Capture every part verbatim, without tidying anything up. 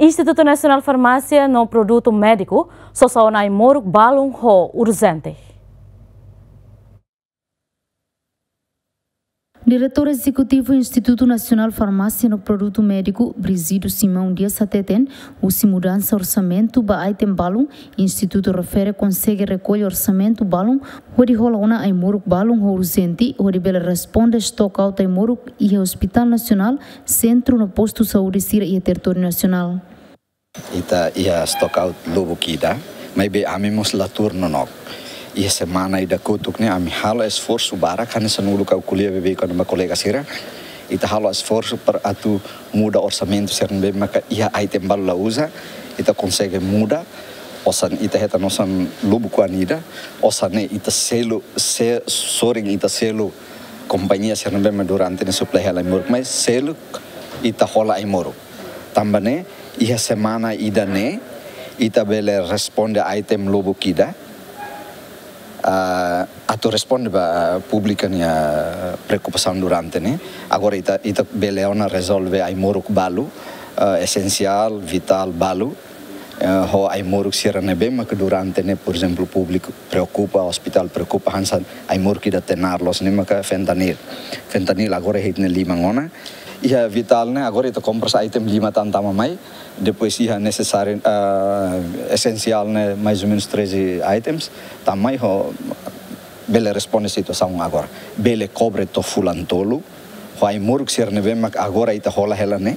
Institutu Nasionál Farmásia no Produtu Médiku sosa ona ai-moruk balun ho urjente. Diretór Ezekutivu Institutu Nasionál Farmásia no Produtu Médiku, Brígido Simão Dias hateten, husi mudansa orsamentu ba item balun, Institutu refere konsege rekolla orsamentu balun hodi hola ona ai-moruk balun ho urjente, hodi bele responde stock out ai-moruk iha Hospitál Nasionál, sentru no postu saúde sira iha territóriu nasionál. Ita iha stock out lubuk ida, maibé ami mós la tuur nonook. Iha semana ida kotuk ne'e ami halo esforsu barak, hanesan uluk ha'u ko'alia beibeik kona-ba kolega sira. Ita halo esforsu para atu muda orsamentu sira ne'ebé maka iha item balu la uza, ita konsege muda, osan ita hetan osan lubuk ida, osan ne'e ita selu, se-, sorin ita selu kompañia sira ne'ebé mak durante ne'e suplai hela ai-moruk, maibé seluk ita hola ai-moruk. Tanba ne'e, iha semana ida-ne'e, ita bele responde item lubuk ida, ah, atu responde ba públiku nia preokupasaun durante ne'e. Agora ita, ita bele ona rezolve ai-moruk balu, ah, esensiál, vitál balu, eh, ho ai-moruk sira ne'ebé maka durante ne'e, por ezemplu, públiku preokupa, ospitál preokupa hanesan ai-moruk ida tenar loos ne'e maka fentanil. Fentanil agora iha ita-nia liman ona. Iha vitál ne'e agora ita kompras item lima tan tama mai, depois iha nesesáriu, ah, esensiál ne'e mais ou menus treze items, tama mai ho bele responde situasaun agora. Bele kobre to'o fulan tolu, ho ai-moruk sira ne'ebé mak agora ita hola hela ne'e,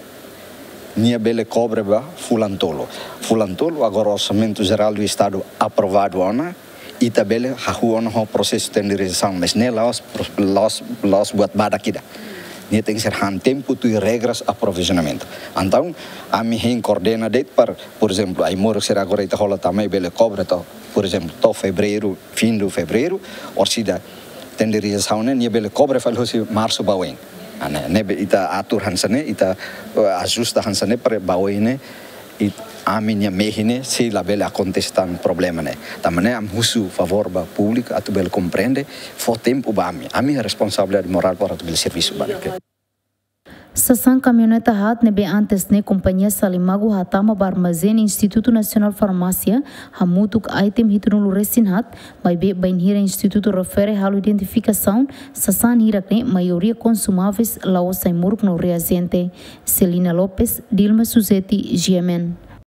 nia bele kobre ba fulan tolu. Fulan tolu agora Orsamentu Jerál do Estadu aprovadu ona, ita bele hahú ona ho prosesu tenderizasaun, mas ne'e la'ós pro-, la'ós, la'ós buat badak ida. Nia tenke ser han tempu tuir regras aprovizionamentu. Entaun, ami hein koordena de'it para, por ezemplu, ai-moruk sira agora ita hola tama mai bele kobre to'o, por ezemplu, to'o fevereiru, fim de fevereiru, orsida tenderizasaun ne'e nia bele kobre fali husi marsu ba oin. Ah, ne'e, ne'ebé ita atur hanesan ne'e, ita, eh, ajusta hanesan ne'e para ba oin ne'e, i ami-nia mehi ne'e sei labele akontese tan problema ne'e. Tanba ne'e ami husu favór ba públiku atu bele komprende, fó tempu ba ami. Ami iha responsabilidade morál para atu bele servisu ba ne'e. Sasán kamioneta haat ne'ebé antes ne'e kompañia Salimagu hatama ba armazén Institutu Nasionál Farmásia, hamutuk item hitunulu resin haat, maibé bainhira Institutu refere halo identifikasaun, sasán hirak ne'e maioria konsumáveis, la'ós ai-moruk no reajente. Celina Lopes, Dilma Suzeti, G M N.